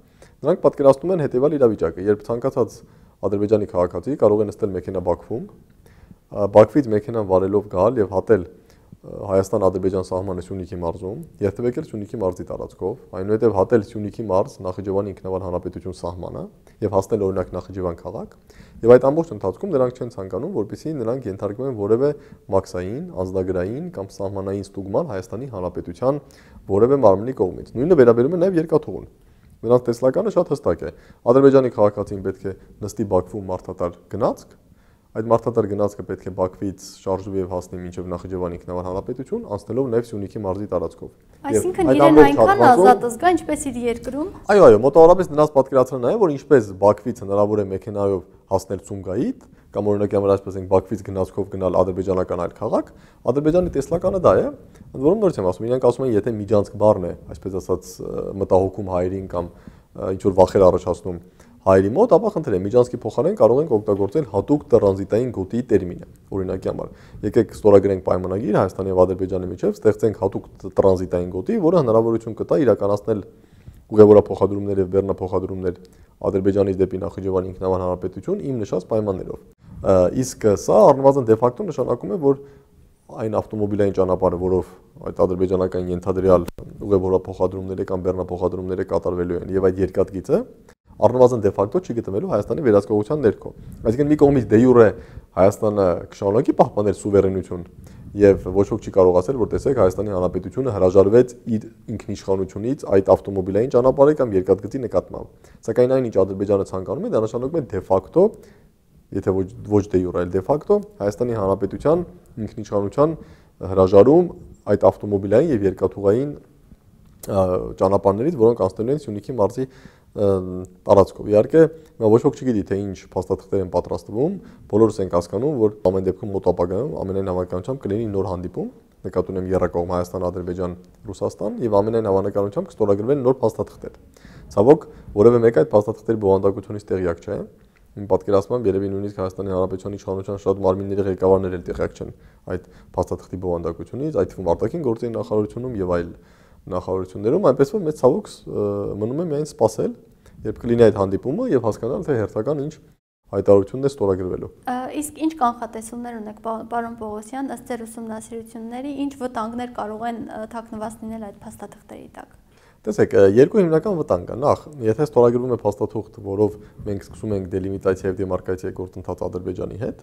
նրանք պատկերացնում են հետեւյալ իրավիճակը, երբ ցանկացած Ադրբեջանի քաղաքացի կարող է նստել մեքենայ Բաքվում, ա, Բաքվից մեքենան վարելով գալ եւ հատել, ը, Հայաստան-Ադրբեջան սահմանը Սյունիքի մարզում, երթեւեկել Սյունիքի մարզի տարածքով, այնուհետեւ հատել Սյունիքի մարզ Նախիջևանի ինքնավար հանրապետություն սահմանը եւ հասնել, օրինակ, Նախիջևան քաղաք, եւ այդ ամբողջ ընթացքում նրանք չեն ցանկանում, որպեսզի նրանք ենթարկվեն որեւէ մաքսային, անձնագրային կամ սահմանային ստուգման Հայաստանի Հանրապետության որեւէ մարմնի կողմից։ Նոյնը վերաբերում է նաեւ երկաթուղուն։ Նրանց տեսլականը շատ հստակ է։ Ադրբեջանի քաղաքացին պետք է նստի Բաքվում մարդատար գնացք, այդ մարդատար գնացքը պետք է Բաքվից շարժվի եւ հասնի մինչեւ Նախիջևան ինքնավար հանրապետություն, անցնելով նաեւ Սյունիքի մարզի տարածքով։ Այսինքն՝ այդ իրեն ամբողջ այնքան հատվածով ազատ զգա, ինչպես իր երկրում։ Այո, այո, մոտավորապես նրանց պատկերացրելն է, որ ինչպես Բաքվից հնարավոր է մեքենայով հասնել Սումգայիթ, կամ, օրինակի համար, այսպես ենք, Բաքվից գնացքով գնալ ադրբեջանական այլ քաղաք, Ադրբեջանի տեսլականը դա է, ընդ որում նորից եմ ասում, իրենք ասում են, եթե միջանցք բառն է, այսպես ասած, ը, մտահոգում հայերին կամ, ը, ինչ-որ վախեր առաջացնում հայերի մոտ, ապա խնդրեմ, միջանցքի փոխարեն կարող ենք օգտագործել հատուկ տրանզիտային գոտի տերմինը։ Օրինակի համար, եկեք ստորագրենք պայմանագիր Հայաստանի եւ Ադրբեջանի միջեւ, ստեղծենք հատուկ տ-, տրանզիտային գոտի, որը հնարավորություն կտա իրականացնել ուղևորափոխադրումներ եւ բեռնափոխադրումներ Ադրբեջանից դեպի Նախիջևան ինքնավար հանրապետություն իմ նշած պայմաններով։ Ը, իսկ սա առնվազն դե ֆակտո նշանակում է, որ այն ավտոմոբիլային ճանապարհը, որով այդ ադրբեջանական ենթադրյալ ուղևորափոխադրումները կամ բեռնափոխադրումները կատարվելու են, եւ այդ երկաթգիծը առնվազն դե ֆակտո չի գտնվելու Հայաստանի վերահսկողության ներքո։ Այսինքն՝ մի կողմից դե յուրե Հայաստանը կշարունակի պահպանել սուվերենություն, եւ ոչ ոք չի կարող ասել, որ, տեսեք, Հայաստանի Հանրապետությունը հրաժարվեց իր ինքնիշխանությունից այդ ավտոմոբիլային ճանապարհի կամ երկաթգծի նկատմամբ։ Սակայն այն, ինչ Ադրբեջանը ցանկանում է, դա նշանակում է դե ֆակտո, եթե ոչ, ոչ դե յուրե, այլ դե ֆակտո, Հայաստանի Հանրապետության ինքնիշխանության հրաժարում այդ ավտոմոբիլային եւ երկաթուղային, ա, ճանապարհներից, որոնք անցնելու են Սյունիքի մարզի, ը, տարածքով։ Իհարկե, հիմա ոչ ոք չգիտի, թե ինչ փաստաթղթեր են պատրաստվում, բոլորս ենք հասկանում, որ ամեն դեպքում մոտ ապագայում ամենայն հավանականությամբ կլինի նոր հանդիպում, նկատի ունեմ եռակողմ Հայաստան, Ադրբեջան, Ռուսաստան, եւ ամենայն հավանականությամբ կստորագրվեն նոր փաստաթղթեր։ Ցավոք, որեւէ մեկը այդ փաստաթղթերի բովանդակությունից տեղյակ չէ։ Իմ պատկերացմամբ, երեւի նույնիսկ Հայաստանի Հանրապետության իշխանության շատ մարմինների ղեկավարներ էլ տեղյակ չեն այդ փաստաթղթի բովանդակությունից, այդ թվում արտաքին գործերի նախարարությունում եւ այլ նախարարություններում, այնպես որ մեծ ցավոք, ը, մնում է միայն սպասել, երբ կլինի այդ հանդիպումը, եւ հասկանալ, թե հերթական ինչ հայտարարությունն է ստորագրվելու։ Ա, իսկ ինչ կանխատեսումներ ունեք, պա-, պարոն Պողոսյան, ըստ ձեր ուսումնասիրությունների, ինչ վտանգներ կարող են, ը, թաքնված լինել այդ փաստաթղթերի տակ։ Տեսեք, ը, երկու հիմնական վտանգ կա։ Նախ, եթե ստորագրվում է փաստաթուղթ, որով մենք սկսում ենք դելիմիտացիա եւ դեմարկացիա գործընթաց Ադրբեջանի հետ,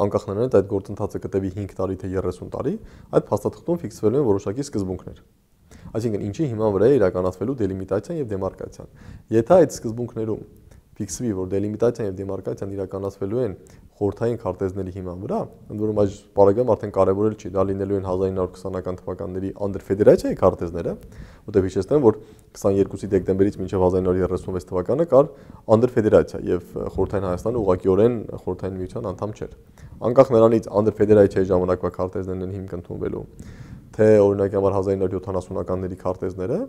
անկախ նրանից այդ գործընթացը կտևի հինգ տարի թե երեսուն տարի, այդ փաստաթղթում ֆիքսվելու են որոշակի սկզբունքներ։ Այսինքն, ինչի հիման վրայ է իրականացվելու դելիմիտացիան եւ դեմարկացիան։ Եթէ այդ սկզբունքներում ֆիքսուի, որ դելիմիտացիան եւ դեմարկացիան իրականացվելու են խորհրդային քարտեզների հիման վրա, ընդ որում այս պարագայում արդեն կարեւորել չի, դա լինելու են հազար ինը հարյուր քսանական թվականների անդր ֆեդերացիայի քարտեզները, որտեղ հիշեցնեմ, որ քսաներկուսի դեկտեմբերից մինչեւ հազար ինը հարյուր երեսունվեց թվականը կար անդր ֆեդերացիա եւ խորհրդային Հայաստանը ուղղակիորեն խորհրդային միության անդամ չէր։ Անկախ նրանից, անդր ֆեդերացիայի ժամանակվա քարտեզներն են հիմք ընդունվելու, թե, օրինակի համար, հազար ինը հարյուր յոթանասունականների քարտեզները,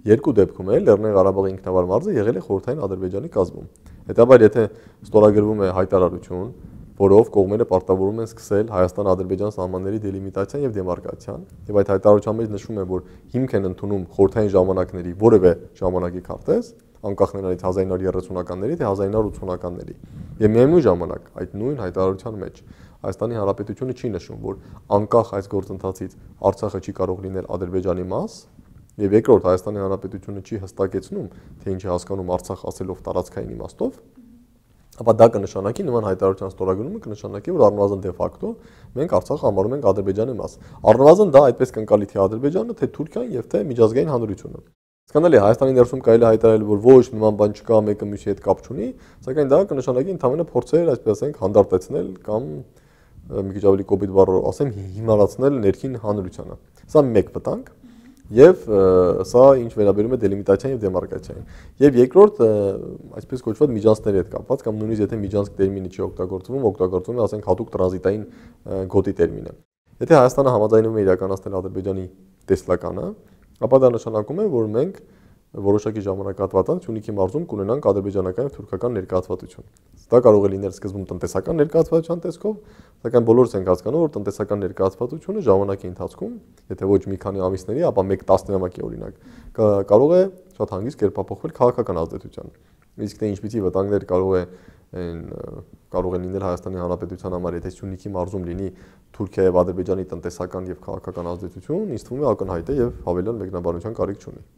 երկու դեպքում էլ Լեռնային Ղարաբաղի ինքնավար մարզը եղել է խորհրդային Ադրբեջանի կազմում։ Հետաբար, եթե ստորագրվում է հայտարարություն, որով կողմերը պարտավորում են սկսել Հայաստան-Ադրբեջան սահմանների դելիմիտացիան եւ դեմարկացիան, եւ այդ հայտարարության մեջ նշվում է, որ հիմք են ընդունում խորհրդային ժամանակների որեւէ ժամանակի քարտեզ, անկախ նրանից հազար ինը հարյուր երեսունականների, թե հազար ինը հարյուր ութսունականների։ Եւ միեւնոյն ժամանակ, այդ նոյն հայտարարության մեջ Հայաստանի Հանրապետությունը չի նշում, որ անկախ այս գործընթացից Արցախը չի կարող լինել Ադրբեջանի մաս, եւ երկրորդ, Հայաստանի Հանրապետությունը չի հստակեցնում, թե ինչ է հասկանում Արցախ ասելով տարածքային իմաստով, ապա դա կնշանակի, նման հայտարարության ստորագրումը կնշանակի, որ առնվազն դե ֆակտո մենք Արցախը համարում ենք Ադրբեջանի մաս։ Առնվազն դա այդպես կընկալի թե Ադրբեջանը, թե Թուրքիան եւ թե միջազգային հանրությունը։ Հասկանալի է, Հայաստանի ներսում կարելի է հայտարարել, որ ոչ, նման բան չկա, մեկը մյուսի հետ կապ չունի, սակայն դա կնշանակի ընդամենը փորձեր, այսպես ասենք, հանդարտեցնել կամ, ը, մի քիչ ավելի կոպիտ բառով ասեմ, հի-, հիմարացնել ներքին հանրությանը։ Սա մեկ վտանգ, եւ, ը, սա ինչ վերաբերում է դելիմիտացիան եւ դեմարկացիային։ Եւ երկրորդ, ը, այսպես կոչված միջանցքների հետ կապված, կամ նույնիսկ եթե միջանցք տերմինը չի օգտագործվում, օգտագործվում է, ասենք, հատուկ տրանզիտային, ը, գոտի տերմինը։ Եթե Հայաստանը համաձայնվում է իրականացնել Ադրբեջանի տեսլականը, ապա դա նշանակում է, որ մենք որոշակի ժամանակահատվածանց Սյունիքի մարզում կունենանք ադրբեջանական եւ թուրքական ներկայացվածություն։ Դա կարող է լինել սկզբում տնտեսական ներկայացվածության տեսքով, սակայն բոլորս ենք հասկանում, որ տնտեսական ներկայացվածությունը ժամանակի ընթացքում, եթե ոչ մի քանի ամիսների, ապա մեկ տասնամյակի, օրինակ, կա-, կարող է շատ հանգիստ կերպափոխվել քաղաքական ազդեցության։ Իսկ թե ինչպիսի վտանգներ կարող է, են, ը, կարող են լինել Հայաստանի Հանրապետության համար, եթե Սյունիքի մարզում լինի Թուրքիա եւ Ադրբեջանի տնտեսական եւ քաղաքական ազդեցություն, ինձ թվում է, ակնհայտ է եւ հավելյալ մեկնաբանության կարիք չունի։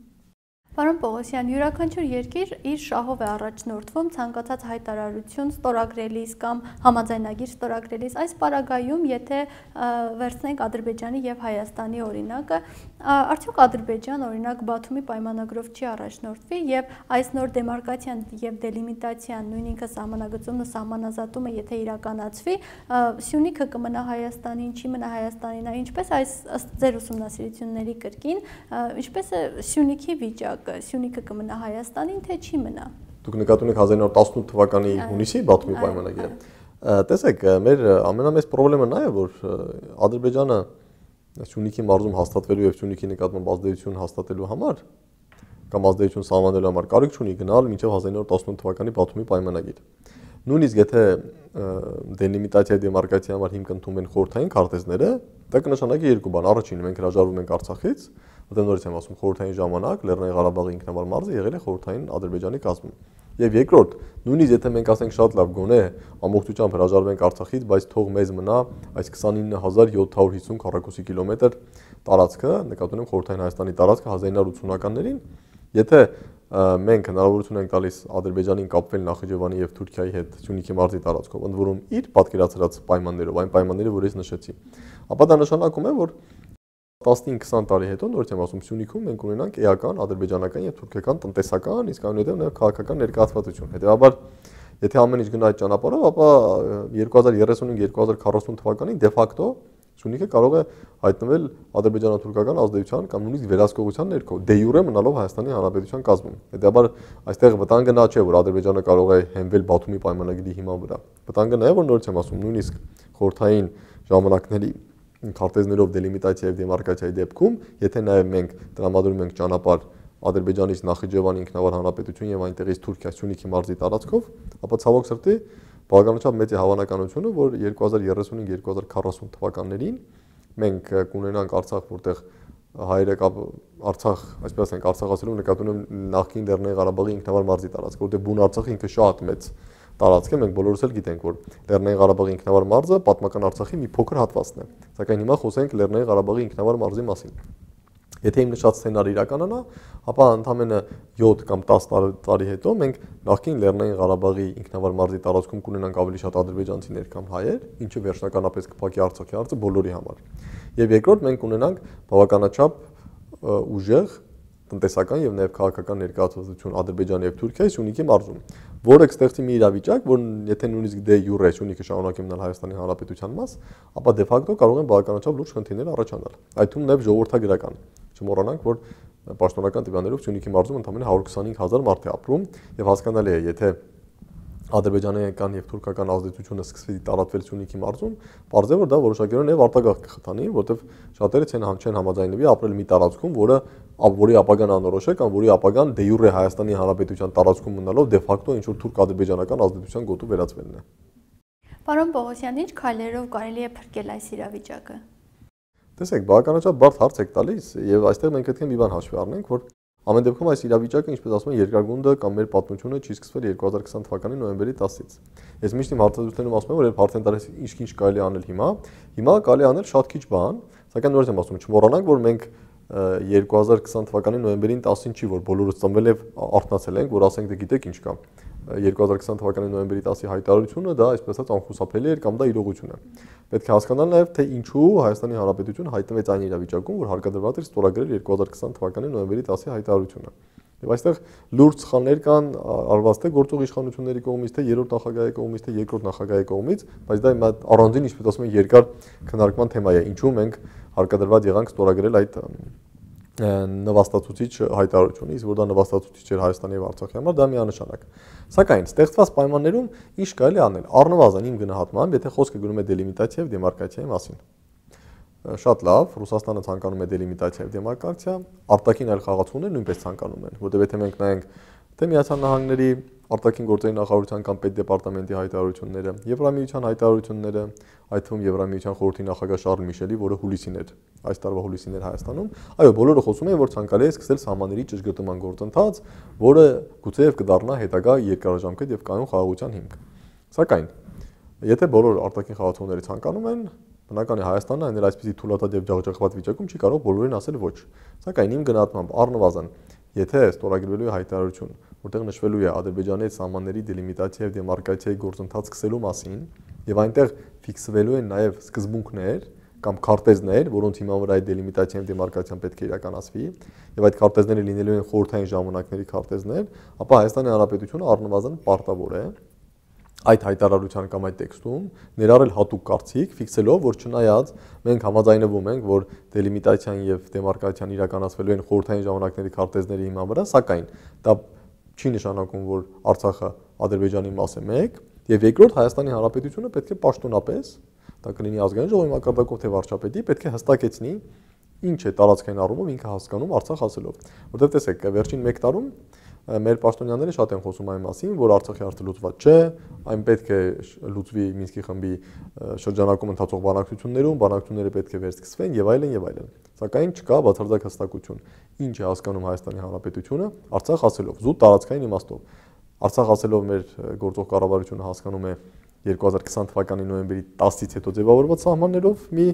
Պարոն Պողոսյան, յուրաքանչյուր երկիր իր շահով է առաջնորդվում, ցանկացած հայտարարություն ստորագրելիս կամ համաձայնագիր ստորագրելիս։ Այս պարագայում, եթե, ը, վերցնենք Ադրբեջանի եւ Հայաստանի օրինակը, ա, արդյոք Ադրբեջան, օրինակ, Բաթումի պայմանագրով չի առաջնորդվի, եւ այս նոր դեմարկացիան եւ դելիմիտացիան, նույնինքը սահմանագծումն ու սահմանազատումը, եթե իրականացվի, ա, Սյունիքը կմնա Հայաստանին, չի մնա Հայաստանին, ա, ինչպես այս, ըստ ձեր ուսումնասիրությունների կրկին, ա, ինչպես է Սյունիքի վիճակը, Սյունիքը կմնա Հայաստանին, թե չի մնա։ Դուք նկատի ունեք հազար ինը հարյուր տասնութ թվականի Այո, հունիսի Բաթումի այո, պայմանագիրը։ այո։ Ա, տեսեք, ա, մեր, ա, ամենամեծ պրոբլեմը նա է, որ, ա, Ադրբեջանը Սյունիքի մարզում հաստատվելու եւ Սյունիքի նկատմամբ ազդեցություն հաստատելու համար կամ ազդեցություն սահմանելու համար կարիք չունի գնալ մինչեւ հազար ինը հարյուր տասնութ թվականի Բաթումի պայմանագիր։ Նույնիսկ եթե, ը, դելիմիտացիա, դեմարկացիա համար հիմք ընդունվեն խորհրդային քարտեզները, դա կնշանակի երկու բան։ Առաջինը, մենք հրաժարվում ենք Արցախից, որտեղ, նորից եմ ասում, խորհրդային ժամանակ Լեռնային Ղարաբաղի ինքնավար մարզը եղել է խորհրդային Ադրբեջանի կազմում։ Եվ երկրորդ, նույնիսկ եթե մենք ասենք շատ լավ, գոնե ամբողջությամբ հրաժարվենք Արցախից, բայց թող մեզ մնա այս քսանինը հազար յոթ հարյուր հիսուն քառակուսի կիլոմետր տարածքը, նկատի ունեմ խորհրդային Հայաստանի տարածքը հազար ինը հարյուր ութսունականներին, եթե, ը, մենք հնարավորություն ենք տալիս Ադրբեջանին կապվել Նախիջևանի եւ Թուրքիայի հետ Սյունիքի մարզի տարածքով, ընդ որում իր պատկերացրած պայմաններով, այն պայմանները, որ ես նշեցի, ապա դա նշանակում է, որ տասնհինգ քսան տարի հետո, նորից եմ ասում, Սյունիքում մենք ունենանք էական ադրբեջանական եւ թուրքական տնտեսական, իսկ այնուհետեւ նաեւ քաղաքական ներկայացվածություն։ Հետեւաբար, եթե ամեն ինչ գնա այդ ճանապարհով, ապա, ը, երկու հազար երեսունհինգ, երկու հազար քառասուն թվականին դե ֆակտո Սյունիքը կարող է հայտնվել ադրբեջանա-թուրքական ազդեցության կամ նույնիսկ վերահսկողության ներքո, դե յուրե մնալով Հայաստանի Հանրապետության կազմում։ Հետեւաբար, այստեղ վտանգը նա չէ, որ Ադրբեջանը կարող է հենվել Բաթումի պայմանագիրի հիման վրա։ Վտանգը նա է, որ, նորից եմ ասում, նույնիսկ խորհրդային ժամանակների քարտեզներով դելիմիտացիա եւ դեմարկացիայի դեպքում, եթե նաեւ մենք տրամադրում ենք ճանապարհ Ադրբեջանից Նախիջևանի ինքնավար հանրապետություն եւ այնտեղից Թուրքիա Սյունիքի մարզի տարածքով, ապա, ցավոք սրտի, բավականաչափ մեծ է հավանականությունը, որ երկու հազար երեսունհինգ, երկու հազար քառասուն թվականներին մենք, ը, կունենանք Արցախ, որտեղ հայերը կապ-, Արցախ, այսպես ասենք, Արցախ ասելով նկատի ունեմ նախկին Լեռնային Ղարաբաղի ինքնավար մարզի տարածքը, որտեղ Բուն Արցախը ինքը շատ մեծ տարածք է, մենք բոլորս էլ գիտենք, որ Լեռնային Ղարաբաղի ինքնավար մարզը պատմական Արցախի մի փոքր հատվածն է, սակայն հիմա խոսենք Լեռնային Ղարաբաղի ինքնավար մարզի մասին։ Եթե իմ նշած սցենարը իրականանա, ապա ընդամենը յոթ կամ տաս տար-, տարի հետո մենք նախկին Լեռնային Ղարաբաղի ինքնավար մարզի տարածքում կունենանք ավելի շատ ադրբեջանցիներ, քան հայեր, ինչը վերջնականապես կփակի Արցախի հարցը բոլորի համար։ Եվ երկրորդ, մենք կունենանք բավականաչափ ը, ուժեղ տնտեսական եւ նաեւ քաղաքական ներկայացվածություն Ադրբեջանի եւ Թուրքիայի Սյունիքի մարզում, որը կստեղծի մի իրավիճակ, որ եթե նույնիսկ դե յուրե Սյունիքը շարունակի մնալ Հայաստանի Հանրապետության մաս, ապա դե ֆակտո կարող են բավականաչափ լուրջ խնդիրներ առաջանալ։ Այդ թվում նաեւ ժողովրդագրական։ Չմոռանանք, որ պաշտոնական տվյալներով Սյունիքի մարզում ընդամենը հարյուր քսանհինգ հազար մարդ է ապրում, եւ հասկանալի է, եթե ադրբեջանական եւ թուրքական ազդեցությունը սկսվի տարածվել Սյունիքի մարզում, պարզ է, որ դա որոշակիորեն նաեւ արտագաղթ կը խթանի, որտեւ շատերը չեն համ-, չեն համաձայնվի ապրել մի տարածքում, որը, ա-, որի ապագան անորոշ է կամ որի ապագան դե յուրե Հայաստանի Հանրապետության տարածքում մնալով դե ֆակտո ինչ որ թուրք-ադրբեջանական ազդեցության գոտու վերածվելն է։ Պարոն Պողոսյան, ինչ քայլերով կարելի է փրկել այս իրավիճակը։ Տեսեք, բավականաչափ բարդ հարց եք տալիս, եւ այստեղ մենք պետք է մի բան հաշվի առնենք, որ ամեն դեպքում այս իրավիճակը, ինչպես ասում են, երկրագունդը կամ մեր պատմությունը չի սկսվել երկու հազար քսան թվականի նոյեմբերի տասից։ Ես միշտ իմ հարցազրույցներում ասում եմ, որ երբ հարց են տալիս, ինչ-ինչ կարելի անել հիմա, հիմա կարելի անել շատ քիչ բան, սակայն նորից եմ ասում, չմոռանանք, որ մենք, ը, երկու հազար քսան թվականի նոյեմբերին տասին չի, որ բոլորս ծնվել եւ արթնացել ենք, որ ասենք, դե գիտեք ինչ կա։ Ը, երկու հազար քսան թվականի նոյեմբերի տասի հայտարարությունը դա, այսպես ասած, անխուսափելի էր կամ դա իրողություն է։ Պետք է հասկանալ նաեւ, թե ինչու Հայաստանի Հանրապետությունը հայտնվեց այն իրավիճակում, որ հարկադրված էր ստորագրել երկու հազար քսան թվականի նոյեմբերի տասի հայտարարությունը։ Եւ այստեղ լուրջ սխալներ կան, ա-, արված թե գործող իշխանությունների կողմից, թե երրորդ նախագահի կողմից, թե երկրորդ նախագահի կողմից, բայց դա իմ այդ առանձին, ինչպես ասում են, երկար քննարկման թեմա է, ինչու մենք հարկադրված եղանք ստորագրել այդ, ը, նվաստացուցիչ հայտարարությունը, իսկ որ դա նվաստացուցիչ էր Հայաստանի եւ Արցախի համար, դա միանշանակ։ Սակայն ստեղծված պայմաններում ինչ կարելի անել, առնվազն իմ գնահատմամբ, եթե խոսքը գնում է դելիմիտացիա եւ դեմարկացիայի մասին։ Շատ լավ, Ռուսաստանը ցանկանում է դելիմիտացիա եւ դեմարկացիա, արտաքին այլ խաղացողներ նույնպես ցանկանում են, որտեղ եթե մենք նայենք, թե Միացյալ Նահանգների արտաքին գործերի նախարարության կամ պետդեպարտամենտի հայտարարությունները, Եվրամիության հայտարարությունները, այդ թվում Եվրամիության խորհրդի նախագահ Շարլ Միշելի, որը հուլիսին էր, այս տարվա հուլիսին էր Հայաստանում, այո, բոլորը խոսում են, որ ցանկալի է սկսել սահմանների ճշգրտման գործընթաց, որը գուցեեւ կդառնա հետագայ երկարաժամկետ եւ կայուն խաղաղության հիմք։ Սակայն, եթե բոլոր արտաքին խաղացողները ցանկանում են, բնական է, Հայաստանը, այն էլ այսպիսի թուլատատ եւ ջախջախված վիճակում, չի կարող բոլորին ասել ոչ։ Սակայն իմ գնահատմամբ, առնվազն, եթե ստորագրվելու է հայտարարություն, որտեղ նշվելու է Ադրբեջանի հետ սահմանների դելիմիտացիա եւ դեմարկացիայի գործընթաց սկսելու մասին, եւ այնտեղ ֆիքսվելու են նաեւ սկզբունքներ կամ քարտեզներ, որոնց հիման վրա այդ դելիմիտացիան եւ դեմարկացիան պետք է իրականացվի, եւ այդ քարտեզները լինելու են խորհրդային ժամանակների քարտեզներ, ապա Հայաստանի Հանրապետությունը առնվազն պարտավոր է այդ հայտարարության կամ այդ տեքստում ներառել հատուկ կարծիք, ֆիքսելով, որ չնայած մենք համաձայնվում ենք, որ դելիմիտացիան եւ դեմարկացիան իրականացվելու են խորհրդային ժամանակների քարտեզների հիման վրա, սակայն դա չի նշանակում, որ Արցախը Ադրբեջանի մաս է, մեկ, եւ երկրորդ, Հայաստանի Հանրապետությունը պետք է պաշտոնապես, դա կլինի Ազգային ժողովի մակարդակով, թե վարչապետի, պետք է հստակեցնի, ինչ է տարածքային առումով ինքը հասկանում Արցախ ասելով։ Որտեւ տեսեք, վերջին մեկ տարում, ը, մեր պաշտոնյաները շատ են խոսում այն մասին, որ Արցախի հարցը լուծված չէ, այն պետք է շ-, լուծվի Մինսկի խմբի, ը, շրջանակում ընթացող բանակցություններում, բանակցությունները պետք է վերսկսվեն եւ այլն, եւ այլն։ Սակայն չկա բացարձակ հստակություն, ինչ է հասկանում Հայաստանի Հանրապետությունը Արցախ ասելով, զուտ տարածքային իմաստով։ Արցախ ասելով մեր, ը, գործող կառավարությունը հասկանում է երկու հազար քսան թվականի նոյեմբերի տասից հետո ձևավորված սահմաններով մի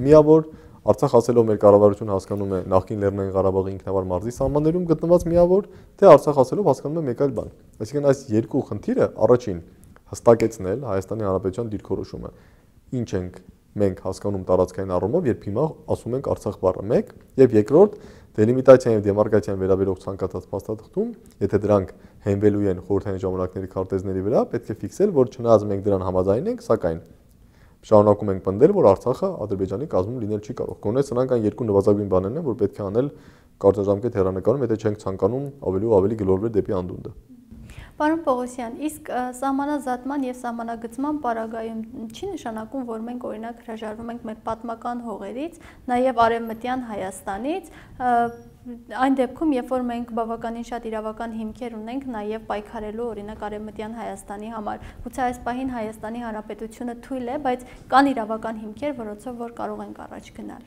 միավոր, Արցախ ասելով մեր կառավարությունը հասկանում է նախկին Լեռնային Ղարաբաղի ինքնավար մարզի սահմաններում գտնված միավոր, թե Արցախ ասելով հասկանում է մեկ այլ բան։ Այսինքն այս երկու խնդիրը, առաջին, հստակեցնել Հայաստանի Հանրապետության դիրքորոշումը, ինչ ենք մենք հասկանում տարածքային առումով, երբ հիմա ասում ենք Արցախ բառը, մեկ, եւ երկրորդ, դելիմիտացիան եւ դեմարկացիան վերաբերող ցանկացած փաստաթղթում, եթե դրանք հենվելու են խորհրդային ժամանակների քարտեզների վրա, պետք է ֆիքսել, որ չնայած մենք դրան համաձայն ենք, սակայն շարունակում ենք պնդել, որ Արցախը Ադրբեջանի կազմում լինել չի կարող։ Գոնե սրանք այն երկու նվազագույն բաներն են, որ պետք է անել կարճաժամկետ հեռանկարում, եթե չենք ցանկանում ավելի ու ավելի գլորվել դեպի անդունդը։ Պարոն Պողոսյան, իսկ, ը, սահմանազատման եւ սահմանագծման պարագայում չի նշանակում, որ մենք, օրինակ, հրաժարվում ենք մեր պատմական հողերից, նաեւ Արեւմտյան Հայաստանից, ը, այն դեպքում, երբ որ մենք բավականին շատ իրավական հիմքեր ունենք, նաեւ պայքարելու, օրինակ, Արեւմտյան Հայաստանի համար։ Գուցե այս պահին Հայաստանի Հանրապետությունը թույլ է, բայց կան իրավական հիմքեր, որոնցով որ կարող ենք առաջ գնալ։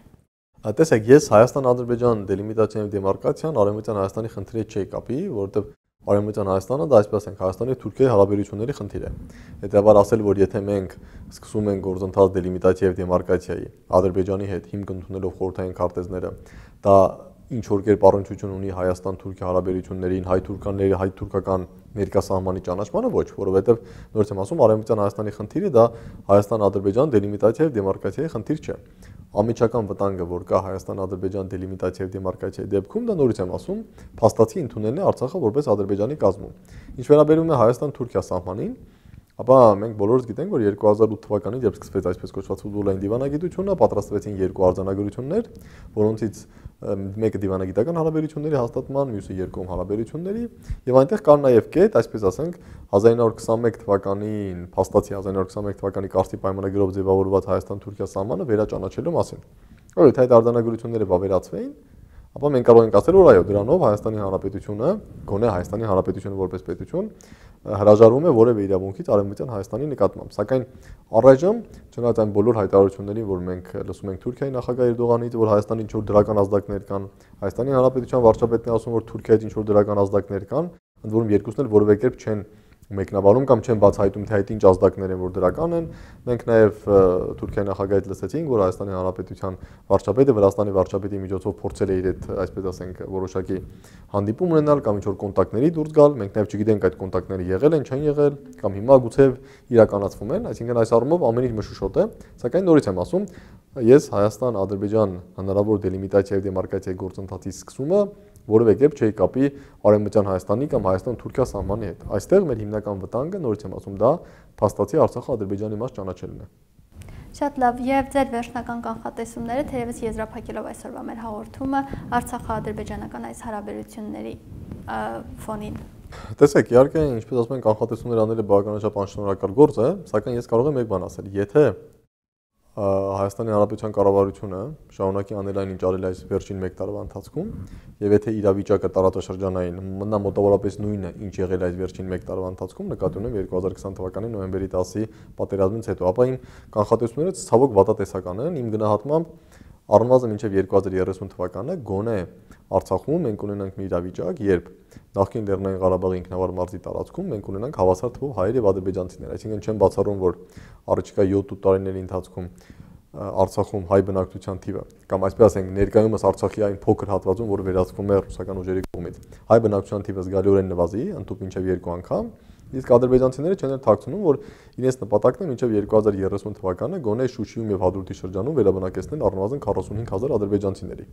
Ա, տեսեք, ես Հայաստան-Ադրբեջան դելիմիտացիան եւ դեմարկացիան Արեւմտյան Հայաստանի խնդրի հետ չէի կապի, որովհետեւ Արեւմտյան Հայաստանը դա, այսպես ենք, Հայաստանի եւ Թուրքիայի հարաբերությունների խնդիր է։ Հետեւաբար ասել, որ եթե մենք սկսում ենք գործընթաց դելիմիտացիա եւ դեմարկացիայի Ադրբեջանի հետ հիմք ընդունելով խորհրդային քարտեզները, դա ինչ որ կերպ առնչություն ունի Հայաստան-Թուրքիա հարաբերություններին, հայ-թուրքական, հայ-թուրքական ներկա սահմանի ճանաչմանը, ոչ, որովհետեւ, նորից եմ ասում, Արեւմտյան Հայաստանի խնդիրը դա Հայաստան-Ադրբեջան դելիմիտացիա եւ դեմարկացիայի խնդիր չէ։ անմիջական վտանգը, որ կա Հայաստան-Ադրբեջան դելիմիտացիա եւ դեմարկացիայի դեպքում, դա, նորից եմ ասում, փաստացի ընդունելն է Արցախը որպես Ադրբեջանի կազմում։ Ինչ վերաբերում է Հայաստան-Թուրքիա սահմանին, ապա մենք բոլորս գիտենք, որ երկու հազար ութ թվականին, երբ սկսվեց այսպես կոչված ֆուտբոլային դիվանագիտությունը, պատրաստվեցին երկու արձանագրություններ, որոնցից, ը, մեկը դիվանագիտական հարաբերությունների հաստատման, մյուսը երկկողմ հարաբերությունների, եւ այնտեղ կար նաեւ կետ, այսպես ասենք, հազար ինը հարյուր քսանմեկ թվականին, փաստացի հազար ինը հարյուր քսանմեկ թվականի Կարսի պայմանագիրով ձեւավորուած Հայաստան-Թուրքիա սահմանը վերաճանաչելու մասին։ Օրը, եթե այդ արձանագրությունները վավերացվեին, ապա մենք կարող ենք ասել, որ այո, դրանով Հայաստանի Հանրապետությունը, գոնե Հայաստանի Հանրապետությունը որպես պետություն, ը, հրաժարվում է որևէ իրավունքից Արևմտյան Հայաստանի նկատմամբ։ Սակայն առայժմ, չնայած այն բոլոր հայտարարություններին, որ մենք լսում ենք Թուրքիայի նախագահ Էրդողանից, որ Հայաստանի ինչ որ դրական ազդակներ կան, Հայաստանի Հանրապետության վարչապետն է ասում, որ Թուրքիայից ինչ որ դրական ազդակներ կան, ընդ որում երկուսն էլ որևէ կերպ չեն մեկնաբանում կամ չեն բացայտում, թե այդ ինչ ազդակներ են, որ դրական են։ Մենք նաև, ը, Թուրքիայի նախագահից լսեցինք, որ Հայաստանի Հանրապետության վարչապետը Վրաստանի վարչապետի միջոցով փորձել է իր հետ, այսպես ասենք, որոշակի հանդիպում ունենալ կամ ինչ որ կոնտակտների դուրս գալ։ Մենք նաև չգիտենք, այդ կոնտակտները եղել են, չեն եղել, կամ հիմա գուցե իրականացվում են, այսինքն այս առումով ամեն ինչ մշուշոտ է, սակայն նորից եմ ասում, ես Հայաստան-Ադրբեջան հնարավոր դելիմիտացիա եւ դեմարկացիայի գործընթացի սկսումը որևէ կերպ չէի կապի Արևմտյան Հայաստանի կամ Հայաստան-Թուրքիա սահմանի հետ։ Այստեղ մեր հիմնական վտանգը, նորից եմ ասում, դա փաստացի Արցախը Ադրբեջանի մաս ճանաչելն է։ Շատ լավ, եւ ձեր վերջնական կանխատեսումները, թերեւս եզրափակելով այսօրվա մեր հաղորդումը, Արցախա-ադրբեջանական այս հարաբերությունների, ը, ֆոնին։ Տեսեք, իհարկե, ինչպես ասում են, կանխատեսումներ անելը բավականաչափ անշնորհակալ գործ է, սակայն ես կարող եմ մեկ բան ասել։ Եթե, ը, Հայաստանի Հանրապետության կառավարությունը շարունակի անել այն, ինչ արել այս վերջին մեկ տարվա ընթացքում, եւ եթե իրավիճակը տարածաշրջանային մնա մոտավորապես նույնը, ինչ եղել այս վերջին մեկ տարվա ընթացքում, նկատի ունեմ երկու հազար քսան թվականի նոյեմբերի տասի պատերազմից հետո, ապա իմ կանխատեսումները ցավոք վատատեսական են, իմ գնահատմամբ առնվազն մինչեւ երկու հազար երեսուն թվականը գոնե Արցախում մենք ունենանք մի իրավիճակ, երբ նախկին Լեռնային Ղարաբաղի ինքնավար մարզի տարածքում մենք ունենանք հավասար թվով հայեր եւ ադրբեջանցիներ, այսինքն չեմ բացառում, որ առաջիկա յոթ-ութ տարիների ընթացքում, ը, Արցախում հայ բնակչության թիվը, կամ այսպես ասենք, ներկայումս Արցախի այն փոքր հատվածում, որ վերահսկվում է ռուսական ուժերի կողմից, հայ բնակչության թիվը զգալիորեն նվազի, ընդհուպ մինչեւ երկու անգամ, իսկ ադրբեջանցիները չեն էլ թաքցնում, որ իրենց նպատակն է մինչեւ երկու հազար երեսուն թվականը գոնե Շուշիում եւ Հադրութի շրջանում վերաբնակեցնել առնվազն քառասունհինգ հազար ադրբեջանցիների։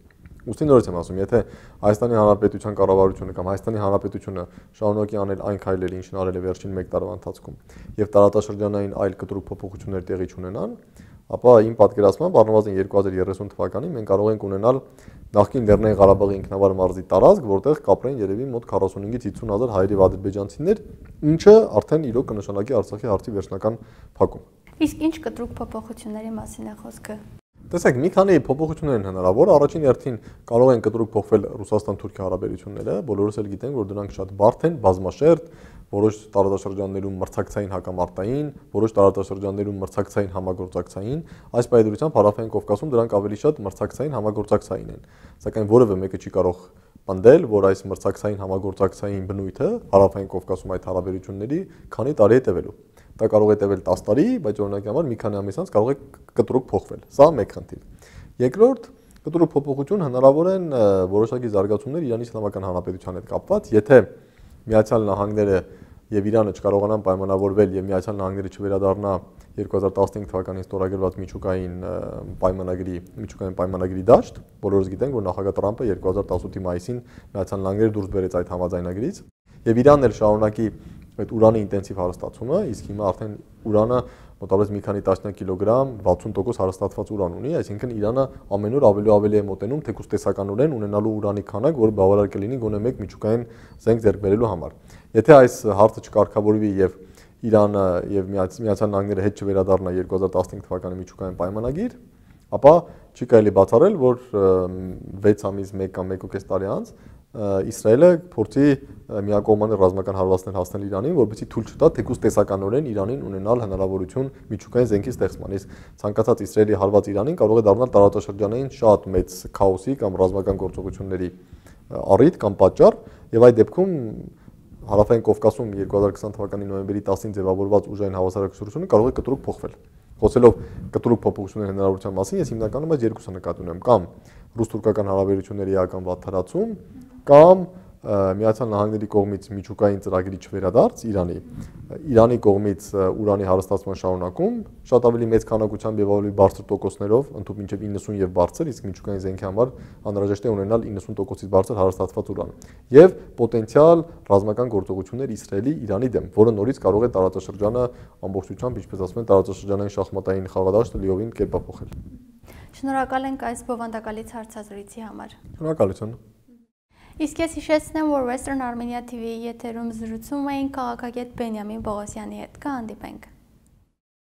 Ուստի նորից եմ ասում, եթե Հայաստանի Հանրապետության կառավարությունը կամ Հայաստանի Հանրապետությունը շարունակի անել այն քայլերը, ինչն արել է վերջին մեկ տարվա ընթացքում, եւ տարածաշրջանային այլ կտրուկ փոփոխություններ տեղի չունենան, ապա իմ պատկերացմամբ առնվազն երկու հազար երեսուն թվականին մենք կարող ենք ունենալ նախկին Լեռնային Ղարաբաղի ինքնավար մարզի տարածք, որտեղ կապրեն երևի մոտ քառասունհինգից հիսուն հազար հայեր եւ ադրբեջանցիներ, ինչը արդեն իրոք կնշանակի Արցախի հարցի վերջնական փակում։ Իսկ ինչ կտրուկ փոփոխությունների մասին է խոսքը։ Տեսեք, մի քանի փոփոխություններ են հնարավոր։ Առաջին հերթին կարող են կտրուկ փոխվել Ռուսաստան-Թուրքիա հարաբերությունները։ Բոլորս էլ գիտենք, որ դրանք շատ բարդ են, բազմաշերտ, որոշ տարածաշրջաններում մրցակցային հակամարտային, որոշ տարածաշրջաններում մրցակցային համագործակցային։ Այս պայմանությամբ Հարավային Կովկասում դրանք ավելի շատ մրցակցային համագործակցային են։ Սակայն որևէ մեկը չի կարող պնդել, որ այս մրցակցային համագործակցային բնույթը Հարավային Կովկասում այդ հարաբերությունների քանի տարի է տևելու։ Դա կարող է տևել տաս տարի, բայց օրինակի համար մի քանի ամիս անց կարող է կտրուկ փոխվել։ Սա մեկ խնդիր։ Երկրորդ, կտրուկ փոփոխություն հնարավոր են, ը, որոշակի զարգացումներ Իրանի Իսլամական Հանրապետության հետ կապված, եթե Միացյալ Նահանգները եւ Իրանը չկարողանան պայմանավորվել եւ Միացյալ Նահանգները չվերադառնա երկու հազար տասնհինգ թվականին ստորագրված միջուկային, ը, պայմանագրի, միջուկային պայմանագրի դաշտ, բոլորս գիտենք, որ նախագահ Տրամպը երկու հազար տասութի մայիսին Միացյալ Նահանգները դուրս բերեց այդ համաձայնագրից, եւ Իրանն էլ շարունակի այդ ուրանի ինտենսիվ հարստացումը, իսկ հիմա արդեն ուրանը մոտավորապես մի քանի տասնյակ կիլոգրամ, վաթսուն տոկոս հարստացված ուրան ունի, այսինքն Իրանը ամեն օր ավելի ու ավելի է մոտենում, թեկուզ տեսականորեն ունենալու ուրանի քանակ, որը բավարար կլինի գոնե մեկ միջուկային զենք ձեռք բերելու համար։ Եթե այս հարցը չկարգավորվի եւ Իրանը եւ Միացյալ Նահանգները հետ չվերադառնա երկու հազար տասնհինգ թվականի միջուկային պայմանագիր, ապա չի կարելի բացառել, որ, ը, վեց ամիս, մեկ կամ մեկ ու կես տարի անց, ը, Իսրայելը փորձի, ը, միակողմանի ռազմական հարվածներ հասնել Իրանին, որպեսզի թույլ չտա թեկուզ տեսականորեն Իրանին ունենալ հնարավորություն միջուկային զենքի ստեղծման։ Իսկ ցանկացած Իսրայելի հարված Իրանին կարող է դառնալ տարածաշրջանային շատ մեծ քաոսի կամ ռազմական գործողությունների, ը, առիթ կամ պատճառ, եւ այդ դեպքում Հարավային Կովկասում երկու հազար քսան թվականի նոյեմբերի տասին ձեւավորված ուժային հավասարակշռությունը կարող է կտրուկ փոխվել։ Խոսելով կտրուկ փոփոխությունների հնարավորության մասին, ես հիմնականում այս երկուսը նկատի ունեմ, կամ ռուս-թուրքական հարաբերությունների էական վատթարացում, կամ, Միացյալ Նահանգների կողմից միջուկային ծրագրի չվերադարձ Իրանի, Իրանի կողմից, ը, ուրանի հարստացման շարունակում, շատ ավելի մեծ քանակությամբ եւ ավելի բարձր տոկոսներով, ընդհուպ մինչեւ իննսուն եւ բարձր, իսկ միջուկային զենքի համար անհրաժեշտ է ունենալ իննսուն տոկոսից բարձր հարստացված ուրան, եւ պոտենցիալ ռազմական գործողություններ Իսրայելի Իրանի դեմ, որը նորից կարող է տարածաշրջանը ամբողջությամբ, ինչպես ասում են, տարածաշրջանային շախմատային խաղադաշտը լիովին կերպափոխել։ Շնորհակալ ենք այս բովանդակալից հարցազրույցի համար։ Շնորհակալություն։ Իսկ ես հիշեցնեմ, որ Western Armenia T V-ի եթերում զրուցում էինք քաղաքագետ Բենիամին Պողոսյանի հետ։ Կհանդիպենք։